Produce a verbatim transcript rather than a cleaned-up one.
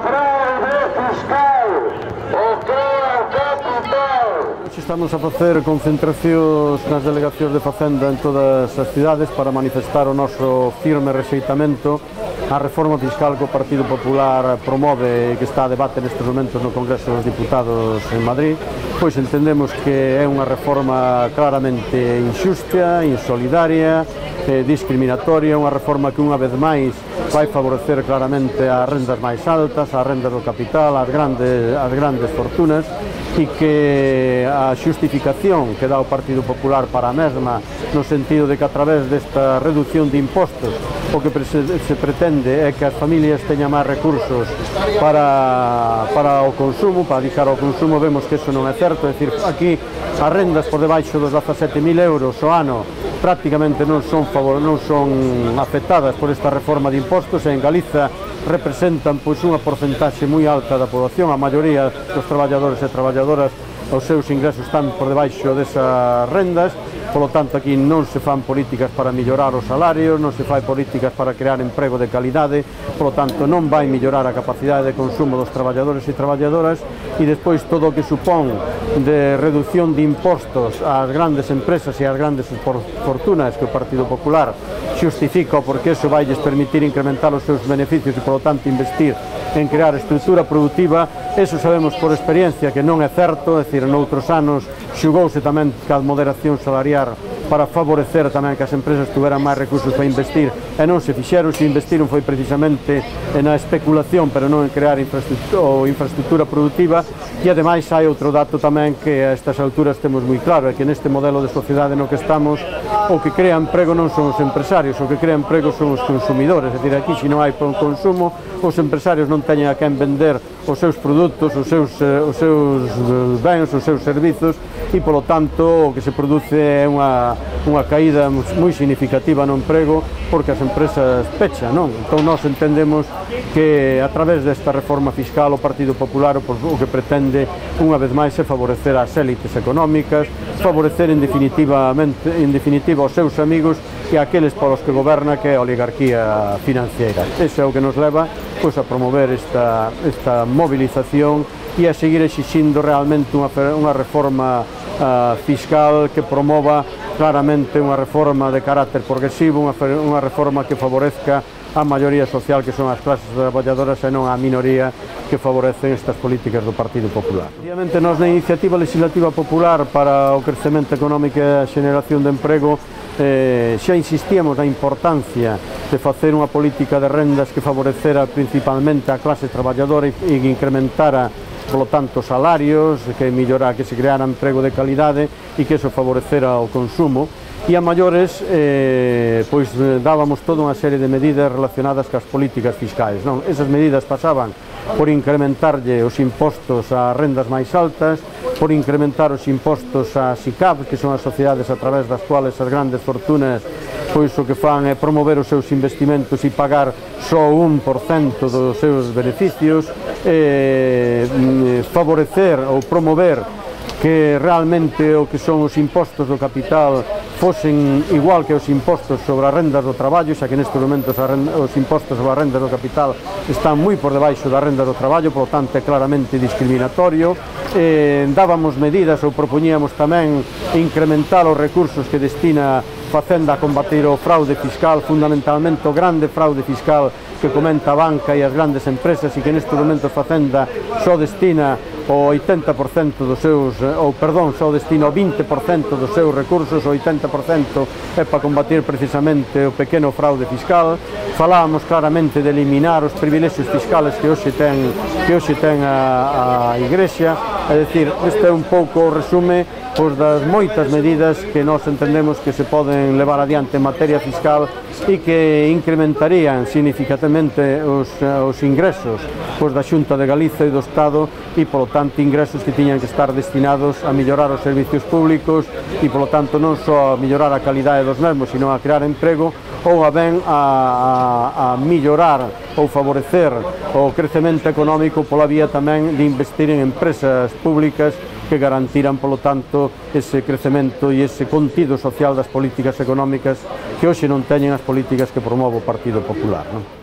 fraude fiscal, o crea capital. Estamos a facer concentracións nas delegacións de Facenda en todas as cidades para manifestar o noso firme rexeitamento á reforma fiscal que o Partido Popular promove e que está a debate nestes momentos no Congreso dos Diputados en Madrid. Pois entendemos que é unha reforma claramente inxusta, insolidaria, eh, discriminatoria, unha reforma que unha vez máis vai favorecer claramente as rendas máis altas, as rendas do capital, as grandes, as grandes fortunas, e que a xustificación que dá o Partido Popular para a mesma, no sentido de que a través desta reducción de impostos o que se pretende é que as familias teñan máis recursos para, para o consumo, para dedicar ao consumo. Vemos que eso non é certo, é dicir, aquí as rendas por debaixo dos dezasete mil euros ao ano prácticamente non son, favor, non son afectadas por esta reforma de impostos, e en Galiza representan pois unha porcentaxe moi alta da poboación. A maioría dos traballadores e traballadoras, os seus ingresos están por debaixo desas rendas. Polo tanto, aquí non se fan políticas para mellorar os salarios, non se fai políticas para crear emprego de calidade, polo tanto non vai mellorar a capacidade de consumo dos traballadores e traballadoras, e despois todo o que supón de reducción de impostos ás grandes empresas e ás grandes fortunas que o Partido Popular xustifica porque eso vai lles permitir incrementar os seus beneficios e, polo tanto, investir en crear estrutura productiva. Eso sabemos por experiencia que non é certo, é dicir, noutros anos xugouse tamén ca moderación salarial para favorecer tamén que as empresas tuveran máis recursos para investir, e non se fixeron. Se investiron foi precisamente na especulación, pero non en crear infraestructura, ou infraestructura productiva. E ademais hai outro dato tamén que a estas alturas temos moi claro, é que neste modelo de sociedade no que estamos, o que crea emprego non son os empresarios, o que crea emprego son os consumidores. É dicir, aquí se non hai consumo, os empresarios non teñen a quen vender os seus produtos, os seus, os seus bens, os seus servizos, e polo tanto o que se produce é unha, unha caída moi significativa no emprego, porque as empresas pechan, non? Entón nós entendemos que a través desta reforma fiscal o Partido Popular o que pretende unha vez máis é favorecer as élites económicas, favorecer en definitiva, en definitiva os seus amigos e aqueles polos que goberna, que é a oligarquía financiera. Ese é o que nos leva pois, a promover esta, esta movilización e a seguir exixindo realmente unha, unha reforma uh, fiscal que promova claramente unha reforma de carácter progresivo, unha, unha reforma que favorezca a maioría social, que son as clases traballadoras, e non a minoría que favorecen estas políticas do Partido Popular. Obviamente, nós na Iniciativa Legislativa Popular para o Crecemento Económico e a Xeneración de Emprego eh, xa insistíamos na importancia de facer unha política de rendas que favorecera principalmente a clase traballadora e que incrementara, polo tanto, salarios, que mellora, que se creara emprego de calidade e que eso favorecera o consumo. E a maiores, eh, pois dábamos toda unha serie de medidas relacionadas cas políticas fiscais, non? Esas medidas pasaban por incrementarlle os impostos ás rendas máis altas, por incrementar os impostos ás I C A P, que son as sociedades a través das cuales as grandes fortunas pois o que fan é promover os seus investimentos e pagar só un por cento dos seus beneficios, eh, favorecer ou promover que realmente o que son os impostos do capital fosen igual que os impostos sobre as rendas do traballo, xa que nestes momentos os impostos sobre as rendas do capital están moi por debaixo das rendas do traballo, por lo tanto é claramente discriminatorio. Eh, dábamos medidas ou propoñíamos tamén incrementar os recursos que destina Facenda a combater o fraude fiscal, fundamentalmente o grande fraude fiscal que comenta a banca e as grandes empresas, e que nestes momentos Facenda só destina o oitenta por cento dos seus, ou perdón, só destina o vinte por cento dos seus recursos, o oitenta por cento é para combater precisamente o pequeno fraude fiscal. Falábamos claramente de eliminar os privilexios fiscales que hoxe ten, que hoxe ten a, a Igrexa, é dicir, este é un pouco o resume pois, das moitas medidas que nós entendemos que se poden levar adiante en materia fiscal e que incrementarían significativamente os, os ingresos pois, da Xunta de Galiza e do Estado, e polo tanto ingresos que tiñan que estar destinados a mellorar os servicios públicos e polo tanto non só a mellorar a calidade dos mesmos, sino a crear emprego, ou a ben a, a, a mellorar ou favorecer o crecemento económico pola vía tamén de investir en empresas públicas que garantiran, polo tanto, ese crecemento e ese contido social das políticas económicas que hoxe non teñen as políticas que promove o Partido Popular, non?